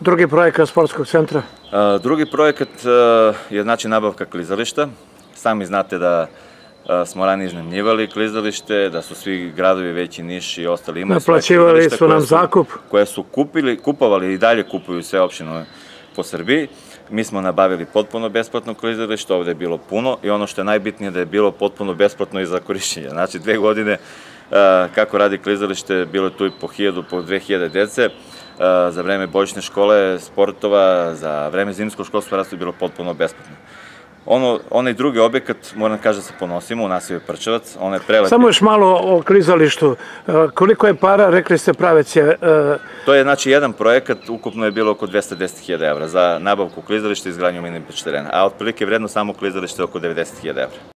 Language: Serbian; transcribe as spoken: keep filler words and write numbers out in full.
Drugi projekat sportskog centra? Drugi projekat je znači nabavka klizališta. Sami znate da smo ranije iznajmljivali klizalište, da su svi gradovi, veći Niš i ostali imali svoje klizalište. Naplaćivali su nam zakup. Koje su kupili, kupovali i dalje kupuju sve opštine po Srbiji. Mi smo nabavili potpuno besplatno klizalište, ovde je bilo puno i ono što je najbitnije da je bilo potpuno besplatno i za korišćenje. Znači, dve godine kako radi klizalište, bilo je tu i po hiljadu, po dve hiljade dece. Za vreme božićne škole, sportova, za vreme zimskog školstva rastu je bilo potpuno besplatno. Onaj drugi objekat, moram kažem da se ponosimo, u naselju Prčevac, on je prelepi. Samo još malo o klizalištu. Koliko je para, rekli ste, Pravec je... To je, znači, jedan projekat, ukupno je bilo oko dvesta deset hiljada evra za nabavku klizališta i izgradnju mini beach terena, a otprilike vredno samo klizalište je oko devedeset hiljada evra.